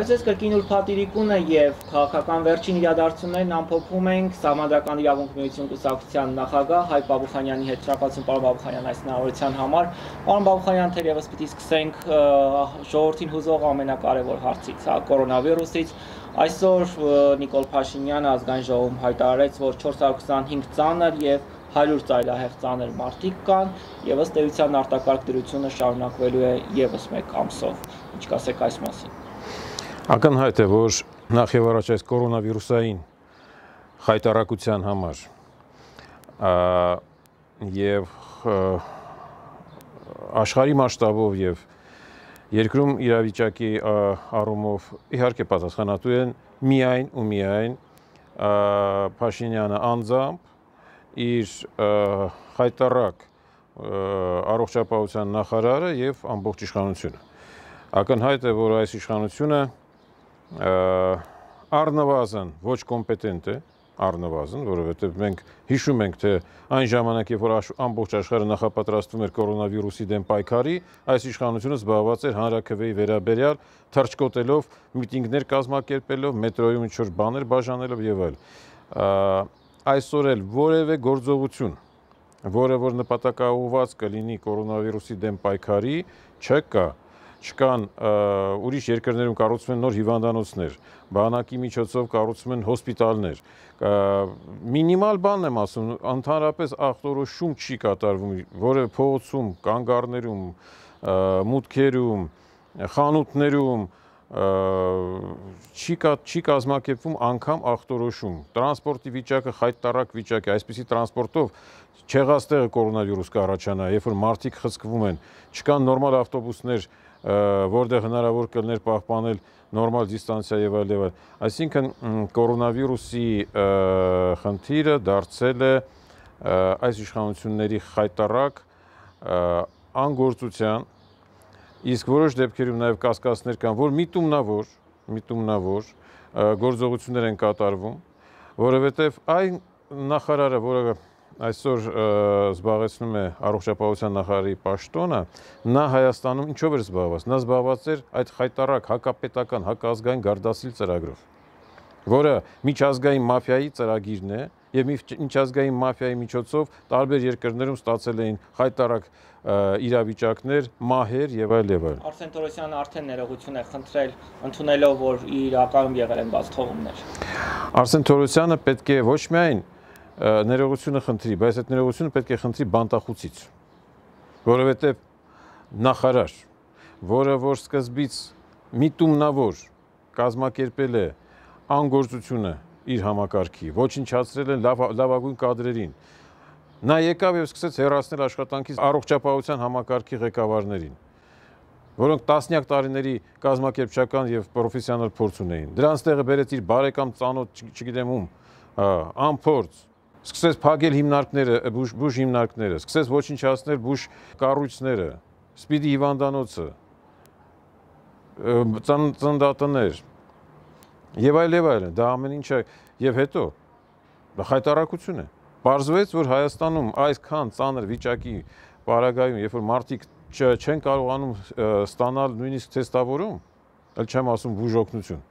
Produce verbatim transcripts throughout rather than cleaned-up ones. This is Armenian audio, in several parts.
Բարեձեզ կրկին ուրբաթիրիկուն է եւ քաղաքական վերջին իրադարձություններն ամփոփում ենք Սահմանադրական իրավունք միություն կուսակցության նախագահ Հայկ Բաբուխանյանի հետ շնորհակալություն պարոն Բաբուխանյան այս հնարավորության համար։ Պարոն Բաբուխանյան, թերևս պիտի սկսենք ժողովրդին հուզող ամենակարևոր հարցից, հա, կորոնավիրուսից։ Այսօր Նիկոլ Փաշինյանը ազգային ժողովում հայտարարեց, որ չորս հարյուր քսանհինգ ծանր եւ հարյուր ծայրահեղ ծանր մարտիկ կան եւ ըստ էության արտակարգ դրությունը շարունակվելու է եւս մեկ ամսով։ Ինչ կասեք այս մասին։ Ակնհայտ է, որ նախ եւ առաջ այս կորոնավիրուսային խայտարակության համար եւ աշխարհի մասշտաբով եւ երկրում իրավիճակի առումով իհարկե պատասխանատու են միայն ու միայն Փաշինյանը անձամբ իր խայտարակ առողջապահության նախարարը եւ ամբողջ իշխանությունը։ Ակնհայտ է, որ այս իշխանությունը առնվազն ոչ կոմպետենտ է, առնվազն, որովհետև մենք հիշում ենք, թե այն ժամանակ, երբ որ ամբողջ աշխարհը նախապատրաստվում էր կորոնավիրուսի դեմ պայքարի, այս իշխանությունը զբաղված էր հանրաքվեի վերաբերյալ, թռչկոտելով, միտինգներ կազմակերպելով, մետրոյում ինչ-որ բաներ բաժանելով եւ այլ։ Այսօր էլ որևէ գործողություն, որը որ նպատակաուղղված կլինի կորոնավիրուսի դեմ պայքարի, չկա։ Չկան ուրիշ երկրներում կառուցվում են նոր հիվանդանոցներ, բանակի միջոցով կառուցվում են հոսպիտալներ, մինիմալ բանն եմ ասում, ընդհանրապես ախտորոշում չի կատարվում, որևէ փողոցում, կանգառներում, մուտքերում, խանութներում չի չի կազմակերպվում անգամ ախտորոշում, տրանսպորտի վիճակը խայտարակ վիճակ է, այսպիսի տրանսպորտով չեղած տեղը կորոնավիրուս կառաջանա, երբ որ մարդիկ խցկվում են, չկան նորմալ ավտոբուսներ, որտեղ հնարավոր կլներ պահպանել նորմալ դիստանցիա եւ այլ եւ այլ։ Այսինքն կորոնավիրուսի խնդիրը դարձել է այս իշխանությունների խայտարակ անգործության, իսկ որոշ դեպքերում նաեւ կասկածներ կան, որ միտումնավոր, միտումնավոր գործողություններ են կատարվում, որովհետեւ այն նախարարը, որը այսօր զբաղեցնում է առողջապահության նախարարի պաշտոնը, նա Հայաստանում ինչով էր զբաղված, նա զբաղված էր այդ խայտարակ հակապետական, հակազգային գարդասիլ ծրագրով, որը միջազգային մաֆիայի ծրագիրն է եւ միջազգային մաֆիայի միջոցով տարբեր երկրներում ստացել էին խայտարակ իրավիճակներ, մահեր եւ այլ եւ այլ։ Արսեն Թորոսյանը արդեն ներողություն է խնդրել, ընդունելով, որ իրականում եղել են բաց թողումներ։ Արսեն Թորոսյանը պետք է ոչ միայն ներողությունը խնդրի, բայց այդ ներողությունը պետք է խնդրի բանտախուցից, որովհետև նախարար, որը որ սկզբից միտումնավոր կազմակերպել է անգործությունը իր համակարգի, ոչնչացրել են լավագույն կադրերին, նա եկավ եւ սկսեց հեռացնել աշխատանքից առողջապահության համակարգի ղեկավարներին, որոնք տասնյակ տարիների կազմակերպչական եւ պրոֆեսիոնալ փորձ ունեին։ Դրանց տեղը բերեց իր բարեկամ ծանոթ, չգիտեմ ում, անփորձ, սկսեց փակել հիմնարկները, բուժ, բուժ հիմնարկները, սկսեց ոչնչացնել բուժ կառույցները, սպիդի հիվանդանոցը, ծննդատներ եւ այլ եւ այլն, դա ամեն ինչը եւ հետո դա խայտարակություն է։ Պարզվեց, որ Հայաստանում այսքան ծանր վիճակի պարագայում, երբ որ մարդիկ չեն կարողանում ստանալ նույնիսկ թեստավորում, ել չեմ ասում բուժօգնություն,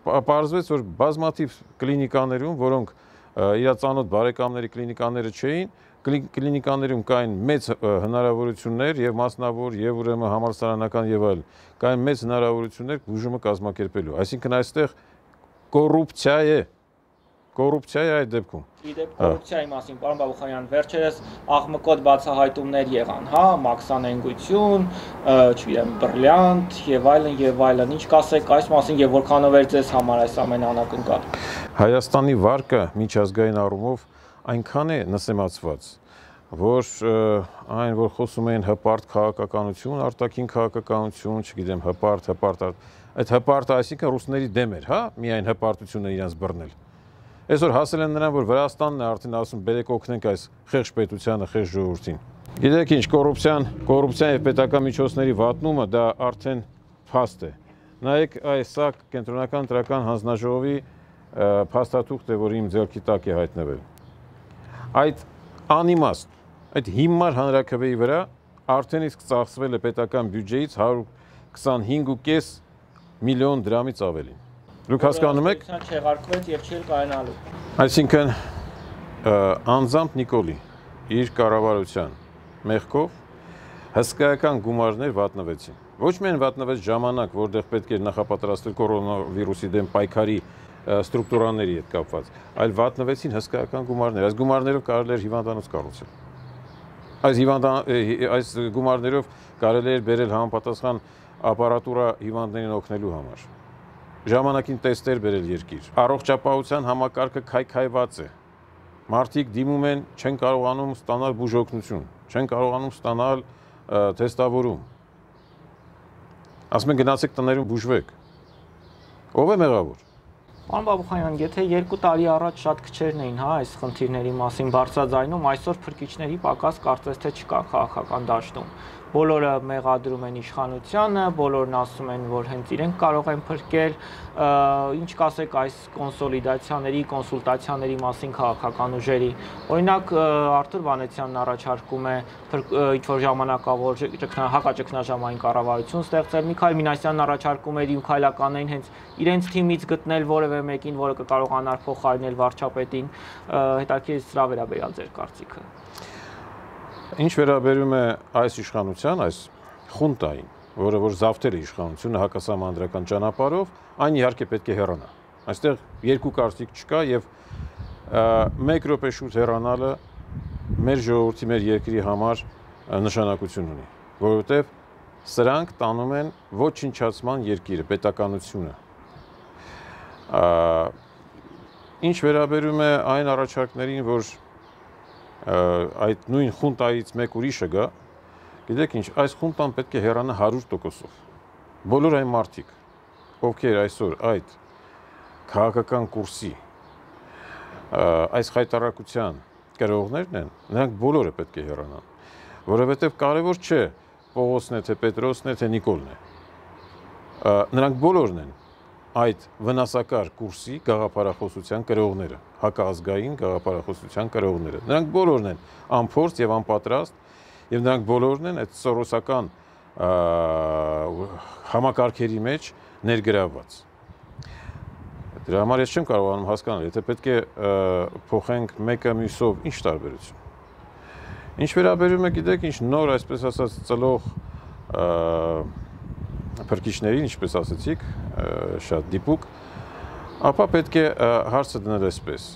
պարզվեց, որ բազմաթիվ կլինիկաներում, որոնք իր ծանոթ բարեկամների կլինիկաները չէին, կլինիկաներում կային մեծ հնարավորություններ եւ մասնավոր եւ ուրեմն համալսարանական եւ այլ, կային մեծ հնարավորություններ բուժումը կազմակերպելու։ Այսինքն այստեղ կոռուպցիա է, կոռուպցիա է այդ դեպքում։ Իդեպ կոռուպցիայի մասին, պարոն Բաբուխանյան, վերջերս աղմկոտ բացահայտումներ եղան, հա, մաքսանենգություն, չգիտեմ, բրիլյանտ եւ այլն եւ այլն։ Ինչ կասեք այս մասին եւ որքանով էր ձեզ համար այս ամենը անակնկալ։ Հայաստանի վարկը միջազգային առումով այնքան է նսեմացված, որ այն, որ խոսում են հպարտ քաղաքականություն, արտաքին քաղաքականություն, չգիտեմ, հպարտ, հպարտ, այդ հպարտը այսինքն ռուսների դեմ էր, հա, միայն հպարտությունը իրենց բռնել։ Այսօր հասել են նրան, որ Վրաստանն է արդեն ասում, բերեք օգնենք այս խեղճ պետությանը, խեղճ ժողովրդին։ Գիտեք ինչ, կոռուպցիան, կոռուպցիան եւ պետական միջոցների վատնումը դա արդեն փաստ է։ Նայեք, այս սա կենտրոնական ընտրական հանձնաժողովի փաստաթուղթ է, որ իմ ձեռքի տակ է հայտնվել։ Այդ անիմաստ, այդ հիմար հանրաքվեի վրա արդեն իսկ ծախսվել է պետական բյուջեից հարյուր քսանհինգ կես միլիոն դրամից ավելին։ Դուք հասկանում եք, չեղարկվեց եւ չէր կայանալու։ Այսինքն անձամբ Նիկոլի իր կառավարության մեղքով հսկայական գումարներ վատնվեցին։ Ոչ միայն վատնվեց ժամանակ, որտեղ պետք էր նախապատրաստել կորոնավիրուսի դեմ պայքարի ստրուկտուրաների հետ կապված, այլ վատնվեցին հսկայական գումարներ։ Այս գումարներով կարելի էր հիվանդանոց կառուցել։ Այս հիվանդան այս գումարներով կարելի էր բերել համապատասխան ապարատուրա հիվանդներին օգնելու համար։ Ժամանակին տեստեր բերել երկիր։ Առողջապահության համակարգը քայքայված է։ Մարդիկ դիմում են, չեն կարողանում ստանալ բուժօգնություն, չեն կարողանում ստանալ թեստավորում։ Ասում են գնացեք տներում բուժվեք։ Ո՞վ է մեղավոր։ Պարոն Բաբուխանյան, եթե երկու տարի առաջ շատ քչերն էին, հա, այս խնդիրների մասին բարձրաձայնում, այսօր փրկիչների պակաս կարծես թե չկա քաղաքական դաշտում։ Բոլորը մեղադրում են իշխանությանը, բոլորն ասում են, որ հենց իրենք կարող են փրկել, ինչ կասեք այս կոնսոլիդացիաների, կոնսուլտացիաների մասին քաղաքական ուժերի։ Օրինակ Արթուր Վանեցյանն առաջարկում է ինչ-որ ժամանակավոր հակաճգնաժամային կառավարություն ստեղծել, Միքայել Մինասյանն առաջարկում էր քայլականներին հենց իրենց թիմից գտնել որևէ մեկին, որը կկարողանար փոխարինել վարչապետին, հետաքրքիր սրա վերաբերյալ ձեր կարծիքը։ Ինչ վերաբերում է այս իշխանության, այս խունտային, որը որ զավթել է իշխանությունը հակասահմանադրական ճանապարհով, այն իհարկե պետք է հեռանա։ Այստեղ երկու կարծիք չկա եւ մեկ րոպե շուտ հեռանալը մեր ժողովրդի, մեր երկրի համար նշանակություն ունի, որովհետեւ սրանք տանում են ոչնչացման երկիրը, պետականությունը։ Ինչ վերաբերում է այն առաջարկներին, որ այդ նույն խունտայից մեկ ուրիշը գա, գիտեք ինչ, այս խունտան պետք է հեռանա հարյուր տոկոսով։ Բոլոր այն մարդիկ, ովքեր այսօր այդ քաղաքական կուրսի, այս խայտառակության կրողներն են, նրանք բոլորը պետք է հեռանան, որովհետև կարևոր չէ Պողոսն է, թե Պետրոսն է, թե Նիկոլն է։ Նրանք բոլորն են այդ վնասակար կուրսի գաղափարախոսության կրողները, հակազգային գաղափարախոսության կրողները։ Նրանք բոլորն են անփորձ եւ անպատրաստ, եւ նրանք բոլորն են այդ սորոսական համակարգերի մեջ ներգրավված։ Դրա համար ես չեմ կարողանում հասկանալ, եթե պետք է փոխենք մեկը մյուսով, ինչ տարբերություն։ Ինչ վերաբերում է, գիտեք, ինչ նոր, այսպես ասած, ծլող փրկիչներին, ինչպես ասացիք, շատ դիպուկ, ապա պետք է հարցը դնել այսպես։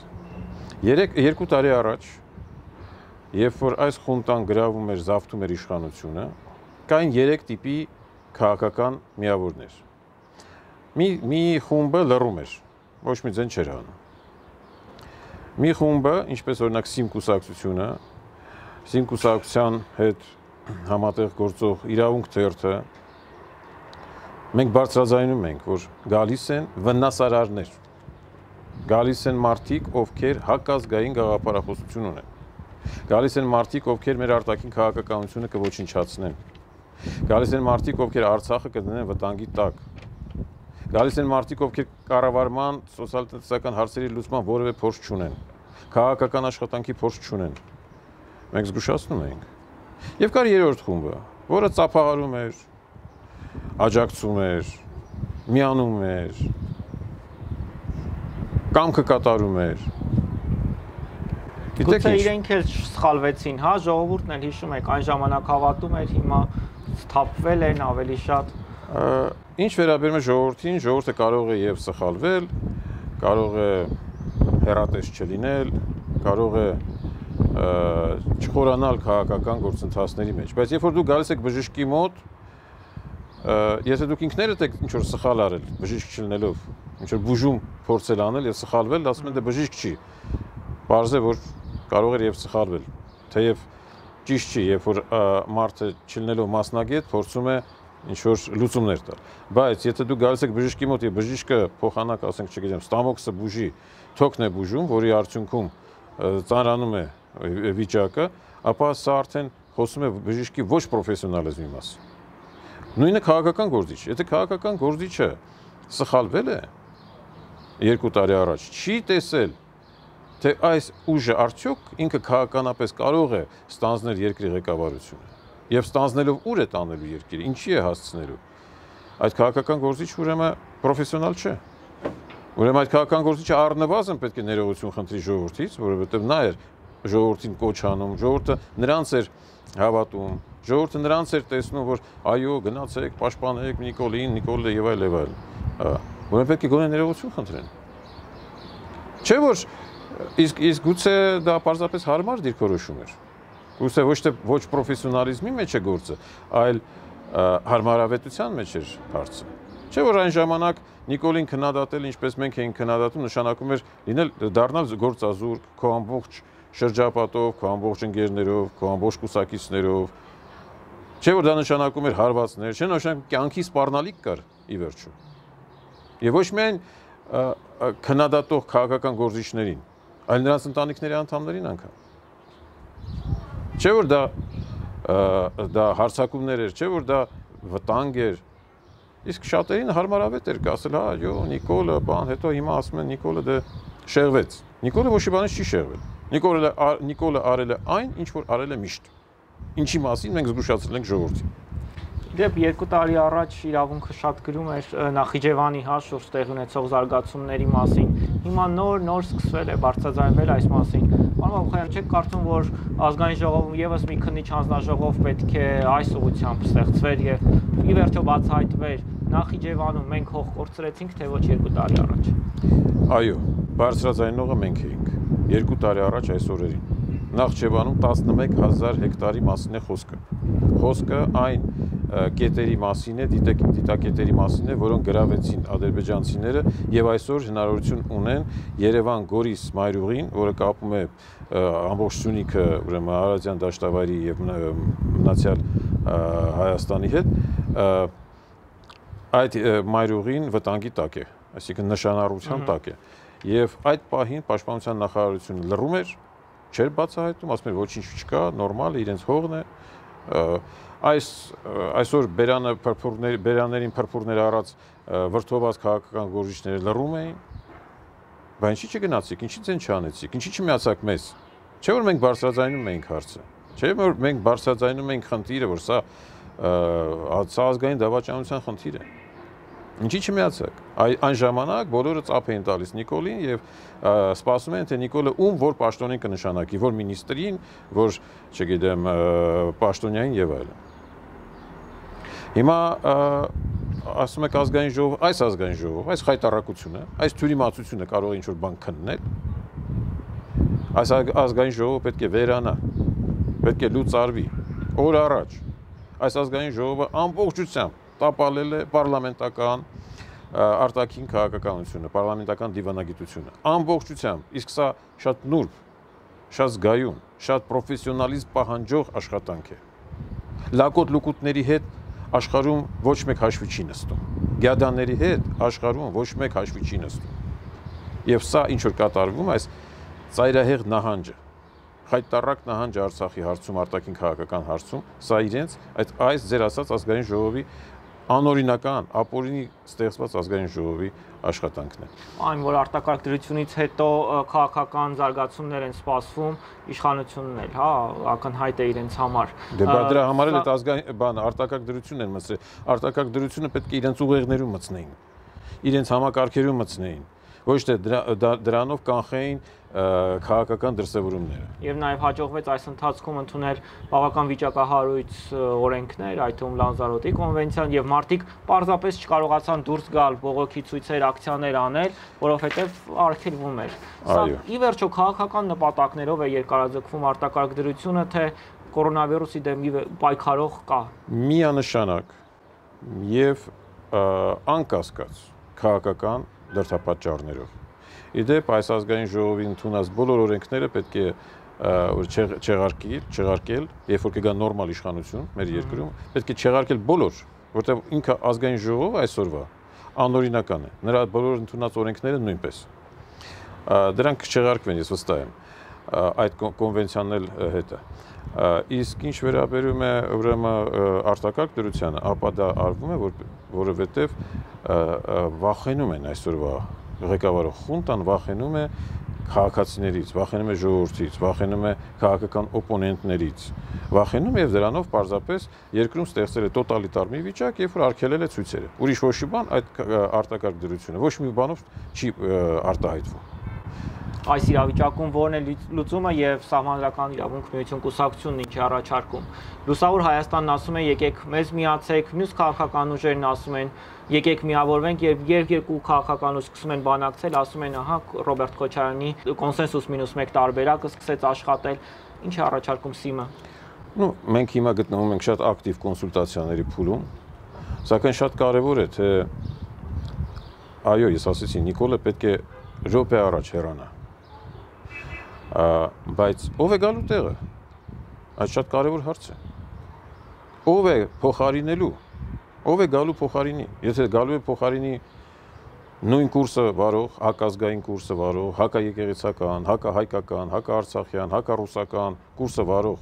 Երկու տարի առաջ, երբ որ այս խունտան գրավում էր, զավթում էր իշխանությունը, կային երեք տիպի քաղաքական միավորներ։ Մի խումբը լռում էր, ոչ մի ձեն չէր անում։ Մի խումբը, ինչպես օրինակ Սիմ կուսակցությունը, Սիմ կուսակցության հետ համատեղ գործող Իրավունք թերթը, մենք բարձրաձայնում ենք, որ գալիս են վնասարարներ, գալիս են մարդիկ, ովքեր հակազգային գաղափարախոսություն ունեն, գալիս են մարդիկ, ովքեր մեր արտաքին քաղաքականությունը կոչնչացնեն, գալիս են մարդիկ, ովքեր Արցախը կդնեն վտանգի տակ, գալիս են մարդիկ, ովքեր կառավարման, սոցիալ-տնտեսական հարցերի լուծման որևէ փորձ չունեն, քաղաքական աշխատանքի փորձ չունեն, մենք զգուշացնում ենք, եւ կար երրորդ խումբը, որը ծափահարում էր, աջակցում էր, միանում էր, կամքը կատարում էր։ Գուցե իրենք էլ սխալվեցին, հա, ժողովուրդն էլ հիշում եք, այն ժամանակ հավատում էր, հիմա սթափվել են ավելի շատ։ Ինչ վերաբերում է ժողովրդին, ժողովուրդը կարող է եւ սխալվել, կարող է հեռատես չլինել, կարող է չխորանալ քաղաքական գործընթացների մեջ, բայց երբ որ դուք գալիս եք բժշկի մոտ, եթե դուք ինքներդ եք ինչ-որ սխալ արել, բժիշկ չլինելով, ինչ-որ բուժում փորձել անել եւ սխալվել, ասում են դե բժիշկ չի։ Պարզ է, որ կարող էր եւ սխալվել, թեև ճիշտ չի, երբ որ մարդը չլինելով մասնագետ փորձում է ինչ-որ լուծումներ տալ։ Բայց եթե դուք գալիս եք բժշկի մոտ եւ բժիշկը փոխանակ, ասենք, չգիտեմ, ստամոքսը բուժի, թոքն է բուժում, որի արդյունքում ծանրանում է վիճակը, ապա սա արդեն խոսում է բժիշկի ոչ պրոֆեսիոնալիզմի մասին։ Նույնը քաղաքական գործիչ, եթե քաղաքական գործիչը սխալվել է երկու տարի առաջ, չի տեսել, թե այս ուժը արդյոք ինքը քաղաքականապես կարող է ստանձնել երկրի ղեկավարությունը եւ ստանձնելով ուր է տանելու երկիրը, ինչի է հասցնելու։ այդ քաղաքական գործիչ ուրեմն պրոֆեսիոնալ չէ։ Ուրեմն այդ քաղաքական գործիչը առնվազն պետք է ներողություն խնդրի ժողովրդից, որովհետև նա էր ժողովրդին կոչ անում, ժողովուրդը նրանց էր հավատում, ժողովուրդը նրանց էր տեսնում, որ այո, գնացեք, պաշտպանեք Նիկոլին, Նիկոլը եւ այլ եւ այլ։ Ուրեմն պետք է գոնե ներողություն խնդրեն։ Չէ՞ որ իսկ իսկ գուցե դա պարզապես հարմար դիրքորոշում էր։ Գուցե ոչ թե ոչ պրոֆեսիոնալիզմի մեջ է գործը, այլ հարմարավետության մեջ էր հարցը։ Չէ՞ որ այն ժամանակ Նիկոլին քննադատել, ինչպես մենք էինք քննադատում, նշանակում էր լինել դառնալ գործազուրկ, քո ամբողջ շրջապատով, քո ամբողջ ընկերներով, քո ամբողջ կուսակիցներով։ Չէ՞ որ դա նշանակում էր հարվածներ, չէ՞ նշանակում կյանքի սպառնալիք կար ի վերջո։ Եվ ոչ միայն քննադատող քաղաքական գործիչներին, այլ նրանց ընտանիքների անդամներին անգամ։ Չէ՞ որ դա դա հարձակումներ էր, չէ՞ որ դա վտանգ էր։ Իսկ շատերին հարմարավետ էր ասել, հա, այո, Նիկոլը, բան, հետո հիմա ասում են Նիկոլը դե շեղվեց։ Նիկոլը ոչ մի բանից չի շեղվել։ Նիկոլը Նիկոլը արել է այն, ինչ որ արել է միշտ։ Ինչի մասին մենք զգուշացրել ենք ժողովրդին։ Դեպ երկու տարի առաջ իրավունքը շատ գրում էր Նախիջևանի հա շուրջ տեղի ունեցող զարգացումների մասին։ Հիմա նոր նոր սկսվել է բարձրաձայնվել այս մասին։ Պարոն Բաբուխանյան, չեք կարծում, որ ազգային ժողովում եւս մի քննիչ հանձնաժողով պետք է այս ուղղությամբ ստեղծվեր եւ ի վերջո բացահայտվեր Նախիջևանում մենք հող կորցրեցինք, թե ոչ երկու տարի առաջ։ Այո, բարձրաձայնողը մենք էինք երկու տարի առաջ այս օրերին։ Նախիջևանում տասնմեկ հազար հեկտարի մասին է խոսքը։ Խոսքը այն կետերի մասին է, դիտակետերի մասին է, որոնք գրավեցին ադրբեջանցիները եւ այսօր հնարավորություն ունեն Երևան Գորիս մայրուղին, որը կապում է ամբողջ Սյունիքը, ուրեմն Արարատյան դաշտավայրի եւ մնացյալ Հայաստանի հետ, այդ մայրուղին վտանգի տակ է, այսինքն նշանառության տակ է։ Եվ այդ պահին Պաշտպանության նախարարությունը լռում էր, չէր բացահայտում, ասում էր ոչինչ չկա, նորմալ է, իրենց հողն է։ Այս այսօր բերանը փրփուրներ բերաներին փրփուրներ առած վրթովված քաղաքական գործիչները լռում էին։ Բայց ինչի՞ չգնացիք, ինչի՞ ցեն չանեցիք, ինչի՞ չմիացաք մեզ։ Չէ՞ որ մենք բարձրաձայնում էինք հարցը։ Չէ՞ որ մենք բարձրաձայնում էինք խնդիրը, որ սա սա ազգային դավաճանության խնդիր է։ Ինչի՞ չմիացաք։ Այն ժամանակ բոլորը ծափ էին տալիս Նիկոլին եւ սպասում են, թե Նիկոլը ում որ պաշտոնին կնշանակի, որ մինիստրին, որ, չգիտեմ, պաշտոնյային եւ այլն։ Հիմա ասում եք ազգային ժողով, այս ազգային ժողով, այս խայտառակությունը, այս թյուրիմացությունը կարող է ինչ-որ բան քննել։ Այս ազգային ժողովը պետք է վերանա, պետք է լուծարվի օր առաջ։ Այս ազգային ժողովը ամբողջությամբ տապալել է պարլամենտական արտաքին քաղաքականությունը, պարլամենտական դիվանագիտությունը, ամբողջությամբ, իսկ սա շատ նուրբ, շատ զգայուն, շատ պրոֆեսիոնալիզմ պահանջող աշխատանք է։ Լակոտ լուկուտների հետ աշխարհում ոչ մեկ հաշվի չի նստում։ Գյադաների հետ աշխարհում ոչ մեկ հաշվի չի նստում։ Եվ սա ինչ որ կատարվում այս ծայրահեղ նահանջը, խայտառակ նահանջը Արցախի հարցում, արտաքին քաղաքական հարցում, սա իրենց այդ այս ձեր ասած ազգային ժողովի անօրինական, ապօրինի ստեղծված ազգային ժողովի աշխատանքն է։ Այն որ արտակարգ դրությունից հետո քաղաքական զարգացումներ են սպասվում, իշխանությունն էլ, հա, ակնհայտ է իրենց համար։ Դե բա դրա համար էլ այդ ազգային բան արտակարգ դրությունն են մտցրել։ Արտակարգ դրությունը պետք է իրենց ուղեղներում մտցնեին, իրենց համակարգերում մտցնեին, ոչ թե դրանով կանխեին քաղաքական դրսևորումները։ Եվ նաև հաջողվեց այս ընթացքում ընդունել բավական վիճակահարույց օրենքներ, այդ թվում Լանզարոտի կոնվենցիան, եւ մարդիկ պարզապես չկարողացան դուրս գալ բողոքի ցույցեր, ակցիաներ անել, որովհետեւ արգելվում էր։ Սա ի վերջո քաղաքական նպատակներով է երկարաձգվում արտակարգ դրությունը, թե կորոնավիրուսի դեմ պայքարող կա։ Միանշանակ եւ անկասկած քաղաքական դրդապատճառներով։ Իդեպ այս ազգային ժողովի ընդունած բոլոր օրենքները պետք է չեղարկել, չեղարկել, երբ որ կգա նորմալ իշխանություն մեր երկրում, պետք է չեղարկել բոլոր, որտեղ ինքը ազգային ժողովը այսօրվա անօրինական է։ Նրա բոլոր ընդունած օրենքները նույնպես։ Դրանք չեղարկվեն, ես վստահ եմ, այդ կոնվենցիանն էլ հետը։ Իսկ ինչ վերաբերում է ուրեմն արտակարգ դրությանը, ապա դա արվում է, որովհետև վախենում են այսօրվա ղեկավարող խունտան, վախենում է քաղաքացիներից, վախենում է ժողովրդից, վախենում է քաղաքական օպոնենտներից, վախենում եւ դրանով պարզապես երկրում ստեղծել է տոտալիտար մի վիճակ, երբ որ արգելել է ցույցերը։ Ուրիշ ոչ մի բան այդ արտակարգ դրությունը ոչ մի բանով չի արտահայտվում։ Այս իրավիճակում որն է լուծումը եւ Սահմանադրական իրավունք միություն կուսակցությունն ինչ է առաջարկում։ Լուսավոր Հայաստանն ասում է եկեք մեզ միացեք, մյուս քաղաքական ուժերն ասում են եկեք միավորվենք եւ երկու քաղաքական ուժ սկսում են բանակցել, ասում են ահա Ռոբերտ Քոչարյանի կոնսենսուս մինուս մեկ տարբերակը սկսեց աշխատել, ինչ է առաջարկում ՍԻՄ-ը։ Ну, մենք հիմա գտնվում ենք շատ ակտիվ կոնսուլտացիաների փուլում, սակայն շատ կարեւոր է թե այո, ես ասեցի, Նիկոլը պետք է րոպե առաջ հեռանա։ Բայց ով է գալու տեղը։ Այդ շատ կարևոր հարց է։ Ով է փոխարինելու։ Ով է գալու փոխարինի։ Եթե գալու է փոխարինի նույն կուրսը վարող, հակազգային կուրսը վարող, հակաեկեղեցական, հակահայկական, հակաարցախյան, հակառուսական կուրսը վարող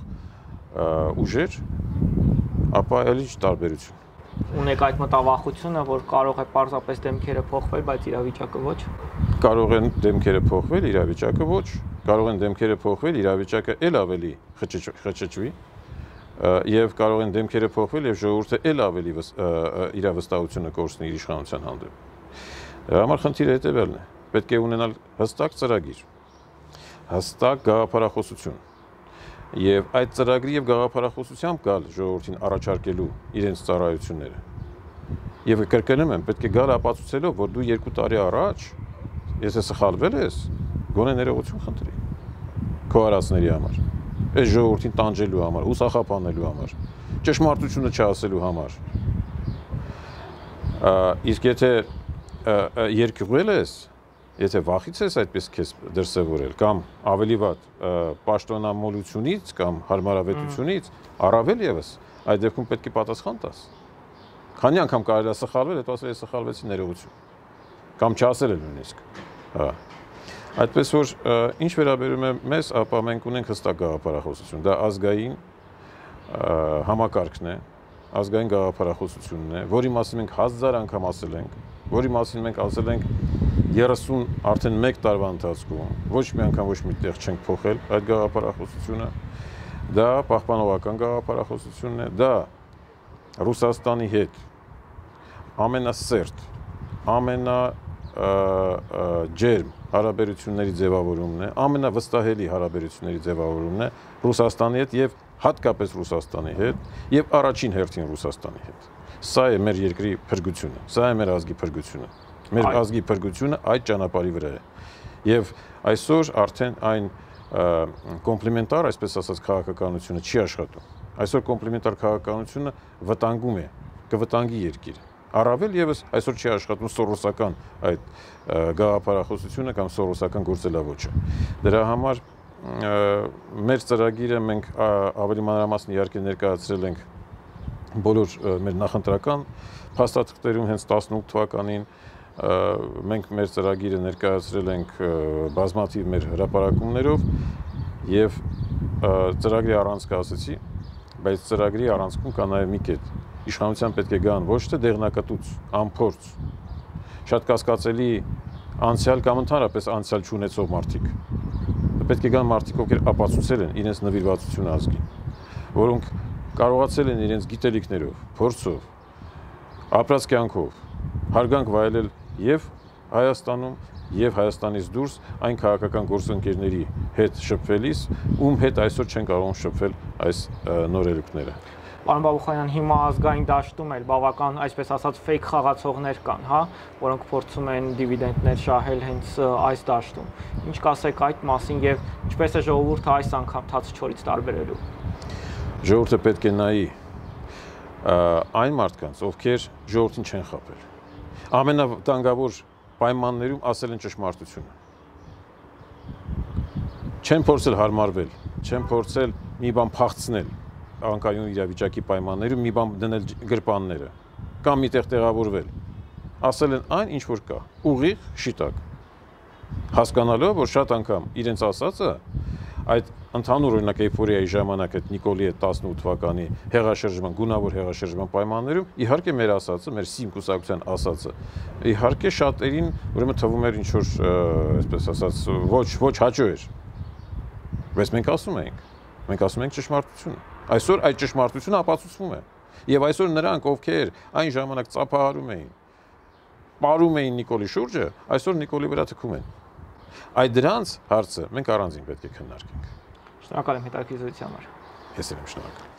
ուժեր, ապա էլ ինչ տարբերություն։ Ունեք այդ մտավախությունը, որ կարող է պարզապես դեմքերը փոխվել, բայց իրավիճակը ոչ։ Կարող են դեմքերը փոխվել, իրավիճակը ոչ։ Կարող են դեմքերը փոխվել, իրավիճակը ել ավելի խճճվի, եւ կարող են դեմքերը փոխվել եւ ժողովուրդը ել ավելի իր վստահությունը կորցնի իր իշխանության հանդեպ։ Դրա համար խնդիրը հետեւյալն է. պետք է ունենալ հստակ ծրագիր, հստակ գաղափարախոսություն եւ այդ ծրագրի եւ գաղափարախոսությամբ գալ ժողովրդին առաջարկելու իրենց ծառայությունները։ Եվ կրկնում եմ, պետք է գալ ապացուցելով, որ դու երկու տարի առաջ, եթե սխալվել ես, գոնե ներողություն խնդրի քո արածների համար, այս ժողովրդին տանջելու համար, ուսախապանելու համար, ճշմարտությունը չասելու համար։ Իսկ եթե երկյուղել ես, եթե վախից ես այդպես քեզ դրսևորել, կամ ավելի վատ պաշտոնամոլությունից կամ հարմարավետությունից, առավել եւս, այդ դեպքում պետք է պատասխան տաս։ Քանի անգամ կարելի է սխալվել, հետո ասել է սխալվեցի, ներողություն։ Կամ չասել է նույնիսկ։ Հա։ Այդպես որ ինչ վերաբերում է մեզ, ապա մենք ունենք հստակ գաղափարախոսություն։ Դա ազգային համակարգն է, ազգային գաղափարախոսությունն է, որի մասին մենք հազար անգամ ասել ենք, որի մասին մենք ասել ենք երեսուն արդեն մեկ տարվա ընթացքում, ոչ մի անգամ ոչ մի տեղ չենք փոխել այդ գաղափարախոսությունը։ Դա պահպանողական գաղափարախոսությունն է, դա Ռուսաստանի հետ ամենասերտ, ամենա ջերմ հարաբերությունների ձևավորումն է, ամենավստահելի հարաբերությունների ձևավորումն է Ռուսաստանի հետ եւ հատկապես Ռուսաստանի հետ եւ առաջին հերթին Ռուսաստանի հետ։ Սա է մեր երկրի փրկությունը, սա է մեր ազգի փրկությունը։ Մեր ազգի փրկությունը այդ ճանապարհի վրա է։ Եվ այսօր արդեն այն կոմպլիմենտար, այսպես ասած, քաղաքականությունը չի աշխատում։ Այսօր կոմպլիմենտար քաղաքականությունը վտանգում է, կվտանգի երկիրը։ Առավել եւս այսօր չի աշխատում սորոսական այդ գաղափարախոսությունը կամ սորոսական գործելավոճը։ Դրա համար մեր ծրագիրը մենք ավելի մանրամասն իհարկե ներկայացրել ենք բոլոր մեր նախընտրական փաստաթղթերում հենց տասնութ թվականին մենք մեր ծրագիրը ներկայացրել ենք բազմաթիվ մեր հրապարակումներով եւ ծրագրի առանցքը ասեցի, բայց ծրագրի առանցքում կա նաեւ մի կետ։ Իշխանության պետք է գան ոչ թե դեղնակտուց, անփորձ, շատ կասկածելի անցյալ կամ ընդհանրապես անցյալ չունեցող մարդիկ։ Պետք է գան մարդիկ, ովքեր ապացուցել են իրենց նվիրվածությունը ազգին, որոնք կարողացել են իրենց գիտելիքներով, փորձով, ապրած կյանքով հարգանք վայելել եւ Հայաստանում եւ Հայաստանից դուրս այն քաղաքական գործընկերների հետ շփվելիս, ում հետ այսօր չեն կարող շփվել այս նորելուկները։ Պարոն Բաբուխանյան, հիմա ազգային դաշտում էլ բավական, այսպես ասած, ֆեյք խաղացողներ կան, հա, որոնք փորձում են դիվիդենդներ շահել հենց այս դաշտում։ Ինչ կասեք այդ մասին եւ ինչպես է ժողովուրդը այս անգամ թաց չորից տարբերելու։ Ժողովուրդը պետք է նայի այն մարդկանց, ովքեր ժողովրդին չեն խաբել։ Ամենավտանգավոր պայմաններում ասել են ճշմարտությունը։ Չեն փորձել հարմարվել, չեն փորձել մի բան փախցնել անկայուն իրավիճակի պայմաններում, մի բան դնել գրպանները կամ միտեղ տեղավորվել։ Ասել են այն, ինչ որ կա, ուղիղ, շիտակ։ Հասկանալով, որ շատ անգամ իրենց ասածը այդ ընդհանուր օրինակ էйֆորիայի ժամանակ այդ Նիկոլի այդ տասնութ թվականի հեղաշրջման, գունավոր հեղաշրջման պայմաններում իհարկե մեր ասածը, մեր սիմ կուսակցության ասածը, իհարկե շատերին ուրեմն թվում էր ինչ որ, այսպես ասած, ոչ ոչ հաճո էր։ Բայց մենք ասում ենք, մենք ասում ենք ճշմարտությունը։ Այսօր այդ ճշմարտությունը ապացուցվում է։ Եվ այսօր նրանք, ովքեր այն ժամանակ ծափահարում էին, պարում էին Նիկոլի շուրջը, այսօր Նիկոլի վրա թքում են։ Այդ դրանց հարցը մենք առանձին պետք է քննարկենք։ Շնորհակալ եմ հետաքրքրության համար։ Ես եմ շնորհակալ։